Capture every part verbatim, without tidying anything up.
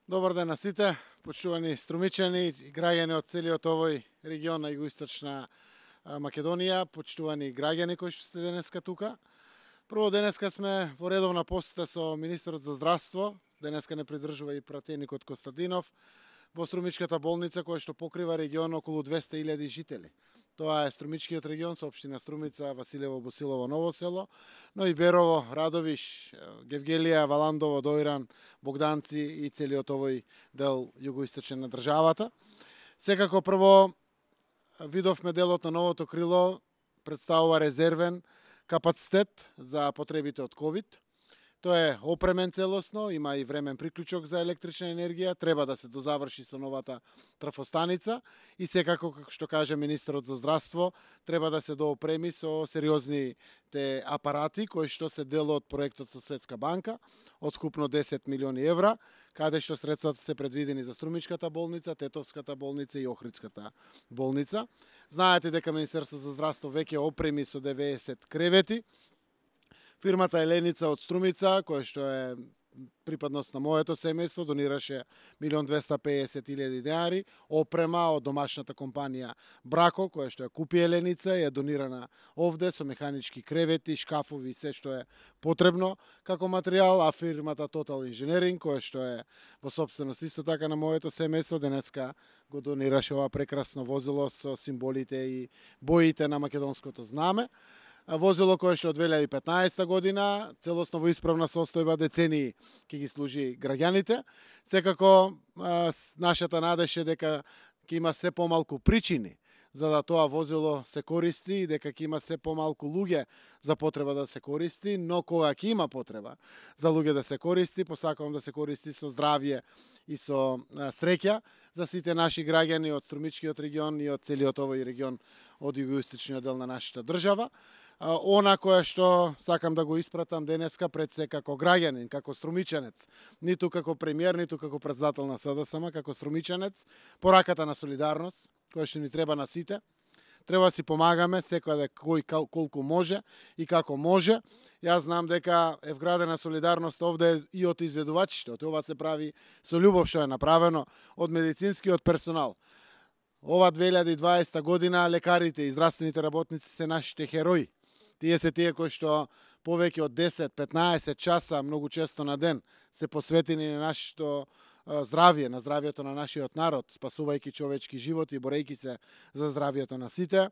Добар ден на сите, почитувани струмичани и граѓани од целиот овој регион на југоисточна Македонија, почитувани граѓани кои што сте денеска тука. Прво, денеска сме во редовна посета со министерот за здравство, денеска не придржува и пратеникот Костадинов, во Струмичката болница која што покрива регион околу двесте илјади жители. Тоа е Струмичкиот регион со општина Струмица, Василево, Босилово, Ново село, но и Берово, Радовиш, Гевгелија, Валандово, Дојран, Богданци и целиот овој дел југоисточен на државата. Секако прво видовме делот на новото крило представува резервен капацитет за потребите од ковид. Тоа е опремен целосно, има и времен приклучок за електрична енергија, треба да се дозаврши со новата трафостаница и секако, како што каже министерот за здравство, треба да се доопреми со сериозните апарати кои што се дел од проектот со Светска банка од скупно десет милиони евра, каде што средствата се предвидени за Струмичката болница, Тетовската болница и Охридската болница. Знаете дека Министерството за здравство веќе опреми со деветдесет кревети. Фирмата Еленица од Струмица, која што е припадност на моето семејство, донираше милион двесте и педесет илјади денари, опрема од домашната компанија Брако, која што ја купи Еленица, е донирана овде со механички кревети, шкафови и се што е потребно како материјал, а фирмата Total Engineering, која што е во собственост исто така на моето семејство, денеска го донираше ова прекрасно возило со символите и боите на македонското знаме. Возило кое што од две илјади и петнаесета година, целосно во исправна состојба, децении ќе ги служи граѓаните. Секако, нашата надеж е дека ќе има се помалку причини за да тоа возило се користи и дека ќе има се помалку луѓе за потреба да се користи, но кога ќе има потреба за луѓе да се користи, посакувам да се користи со здравје и со среќа за сите наши граѓани од Струмичкиот регион и од целиот овој регион од југоисточниот дел на нашата држава. Она која што сакам да го испратам денеска пред се како граѓанин, како струмичанец, ниту како премиер, ниту како председател на СДСМ, како струмичанец, пораката на солидарност, која што ни треба на сите. Треба да си помагаме, секој да кој колку може и како може. Јас знам дека е вградена солидарност овде и од изведувачите, ова се прави со љубов што е направено од медицинскиот персонал. Ова две илјади и дваесета година лекарите и здравствените работници се нашите херои. Тие се тие кои што повеќе од десет до петнаесет часа, многу често на ден, се посветени на нашето здравје, на здравјето на нашиот народ, спасувајќи човечки животи и борејќи се за здравјето на сите,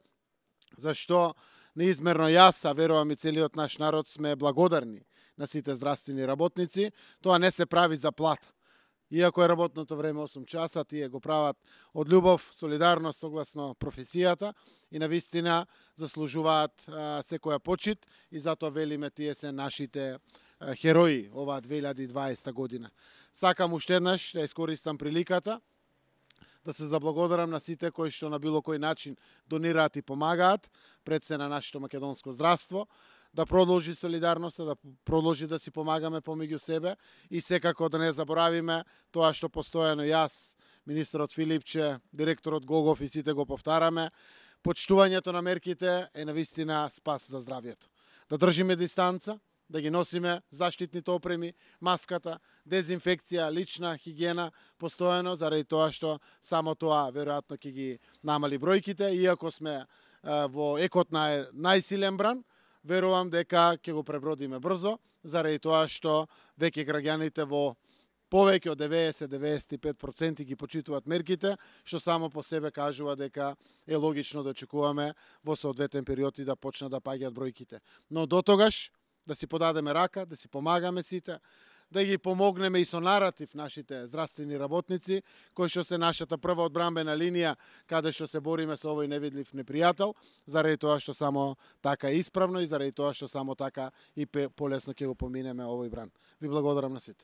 зашто неизмерно јас, а верувам и целиот наш народ, сме благодарни на сите здравствени работници. Тоа не се прави за плата. Иако е работното време осум часа, тие го прават од љубов, солидарност согласно професијата и навистина заслужуваат а, секоја почит и затоа велиме тие се нашите а, херои оваа две илјади и дваесета година. Сакам уште еднаш да искористам приликата да се заблагодарам на сите кои што на било кој начин донираат и помагаат пред се на нашето македонско здравство, да продолжи солидарноста, да продолжи да си помагаме помеѓу себе и секако да не заборавиме тоа што постојано јас, министерот Филипче, директорот Гогов и сите го повтараме. Почитувањето на мерките е навистина спас за здравјето. Да држиме дистанца, да ги носиме заштитните опреми, маската, дезинфекција, лична хигиена постојано, заради тоа што само тоа веројатно ќе ги намали бројките, иако сме во екот на најсилен бран, верувам дека ќе го пребродиме брзо, заради тоа што веќе граѓаните во повеќе од деветдесет до деветдесет и пет проценти ги почитуваат мерките, што само по себе кажува дека е логично да очекуваме во соодветен период и да почнат да паѓаат бројките. Но до тогаш да си подадеме рака, да си помагаме сите, да ги помогнеме и со наратив нашите здравствени работници, кои што се нашата прва одбрамбена линија, каде што се бориме со овој невидлив непријател, заради тоа што само така е исправно и заради тоа што само така и полесно ќе го поминеме овој бран. Ви благодарам на сите.